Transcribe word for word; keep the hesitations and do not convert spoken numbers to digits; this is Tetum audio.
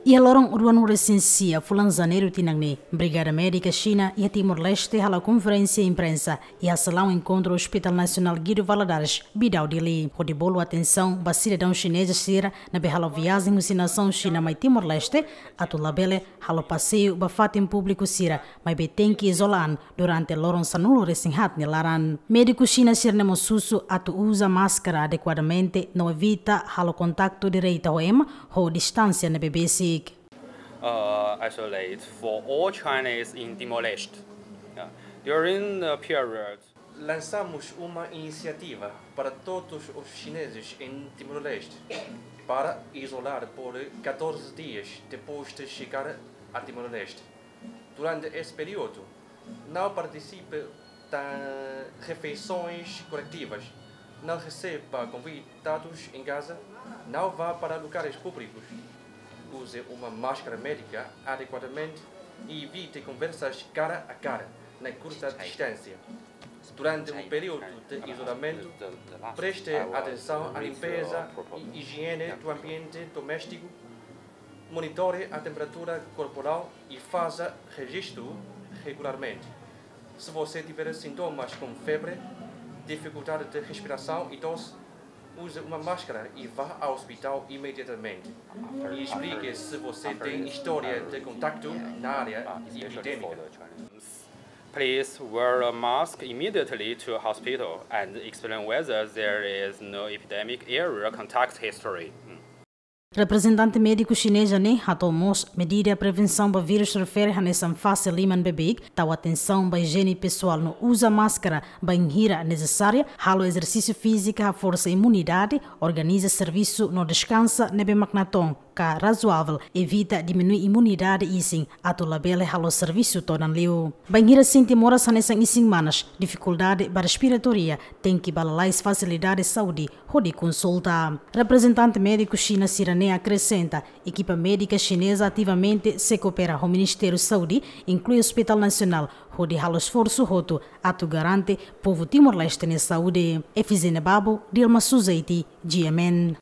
Iha loron ruanulu-resin-sia fulan Janeiru tinan ne'e, Brigada Médika Xina iha Timor-Leste halo konferénsia imprensa iha salaun enkontru Hospital Nasionál Guido Valadares, Bidau, Dili, hodi bolu atensaun ba sidadaun xineza sira ne'ebé halo viajen husi nasaun Xina mai Timor-Leste, atu labele halo paseiu ba fatin públiku sira, maibé tenke izola an durante loron sanulu-resin-haat nia laran. Médiku Xina sira-ne'e mós husu atu uza máskara adekuadamente no evita halo kontaktu direta ho ema ho distánsia ne'ebé besik. Uh, isolate for all Chinese in Timor-Leste. Yeah. During the period, lançamos uma iniciativa para todos os chineses em Timor-Leste para isolar por catorze dias depois de chegar a Timor-Leste. Durante esse período, não participe de refeições coletivas, não receba convidados em casa, não vá para lugares públicos, use uma máscara médica adequadamente e evite conversas cara a cara na curta distância. Durante o período de isolamento, preste atenção à limpeza e higiene do ambiente doméstico, monitore a temperatura corporal e faça registro regularmente. Se você tiver sintomas como febre, dificuldade de respiração e tosse, use uma máscara e vá ao hospital imediatamente. E explique se você tem história de contacto na área epidêmica. Please wear a mask immediately to hospital and explain whether there is no epidemic area contact history. Reprezentante médiku xineza ne'e hato'o mós medida prevensaun ba vírus refere hanesan fase liman beibeik, tau atensaun ba ijiene pesoál no uza máskara bainhira nesesáriu, halo ezersísiu fíziku haforsa imunidade, organiza servisu no deskansa ne'ebé mak natoon ka razoável, evita diminui imunidade isin atu labele halo servisu todan liu. Bainhira sente moras hanesan isin-manas, difikuldade ba respiratória, tenke ba lalais fasilidade saúde hodi konsulta. Reprezentante médiku Xina sira-ne'e akresenta, ekipa médika xineza ativamente sei koopera ho Ministériu Saúde, inklui Hospital Nasionál, hodi halo esforsu hotu atu garante povu Timor-Leste nia saúde. Efizénia Babo, Dilma Suzeiti, G M N.